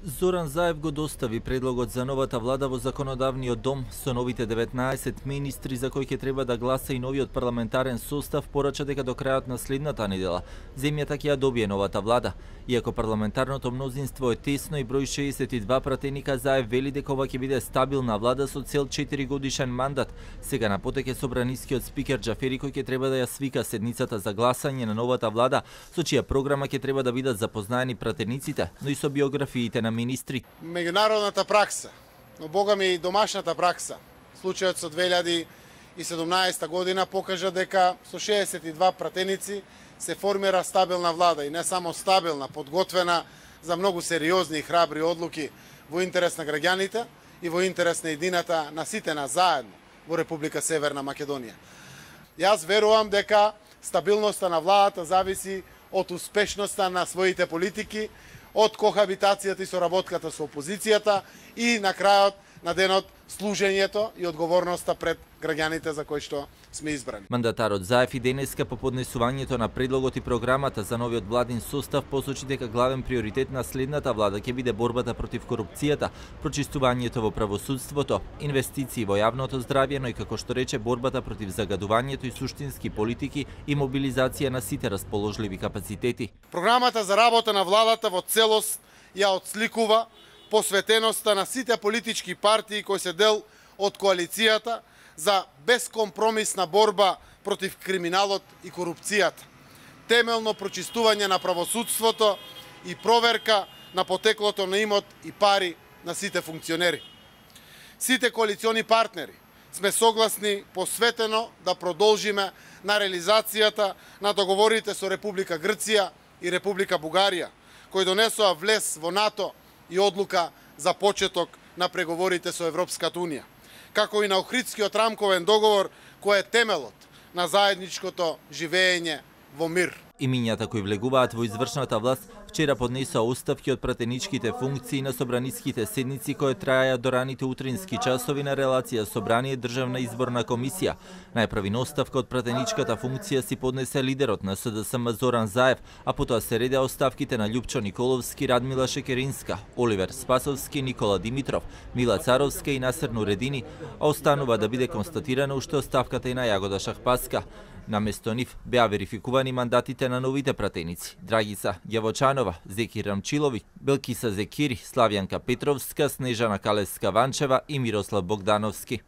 Зоран Заев го достави предлогот за новата влада во законодавниот дом со новите 19 министри за кои ќе треба да гласа и новиот парламентарен состав. Порача дека до крајот на следната недела земјата ќе ја добие новата влада. Иако парламентарното мнозинство е тесно и број 62 пратеника, Заев вели дека ова ќе биде стабилна влада со цел 4 годишен мандат. Сега на потек е собранискиот спикер Џафери кој ќе треба да ја свика седницата за гласање на новата влада, со чија програма ќе треба да бидат запознаени пратениците, но и со биографиите на министри. Меѓународната пракса, но богами и домашната пракса, случајот со 2017 година покажа дека со 62 пратеници се формира стабилна влада и не само стабилна, подготвена за многу сериозни и храбри одлуки во интерес на граѓаните и во интерес на едината на сите нас заедно во Република Северна Македонија. Јас верувам дека стабилноста на владата зависи од успешноста на своите политики, од кохабитацијата и соработката со опозицијата и на крајот на денот служењето и одговорноста пред граѓаните за кои што сме избрани. Мандатарот Заев и денеска по поднесувањето на предлогот и програмата за новиот владин состав посочи дека главен приоритет на следната влада ќе биде борбата против корупцијата, прочистувањето во правосудството, инвестиции во јавното здравје, но и како што рече борбата против загадувањето и суштински политики и мобилизација на сите расположливи капацитети. Програмата за работа на владата во целост ја отсликува посветеноста на сите политички партии кои се дел од коалицијата за безкомпромисна борба против криминалот и корупцијата, темелно прочистување на правосудството и проверка на потеклото на имот и пари на сите функционери. Сите коалициони партнери сме согласни посветено да продолжиме на реализацијата на договорите со Република Грција и Република Бугарија, кои донесоа влез во НАТО и одлука за почеток на преговорите со Европската Унија, како и на Охридскиот рамковен договор кој е темелот на заедничкото живење во мир. Имињата кои влегуваат во извршната власт вчера поднесоа оставки од пратеничките функции на собраниските седници кои траја до раните утрински часови на релација Собрание Државна изборна комисија. Најпрвин оставка од пратеничката функција си поднесе лидерот на СДСМ Зоран Заев, а потоа се редеа оставките на Љупчо Николовски, Радмила Шекеринска, Оливер Спасовски, Никола Димитров, Мила Царовска и Насер Нуредини, а останува да биде констатирана уште оставката и на Јагода Шахпаска. Наместо нив беа верификувани мандатите на новите пратеници: Драгица Ѓавочанова, Зекир Рамчилови, Белкиса Зекири, Славјанка Петровска, Снежана Калеска Ванчева и Мирослав Богдановски.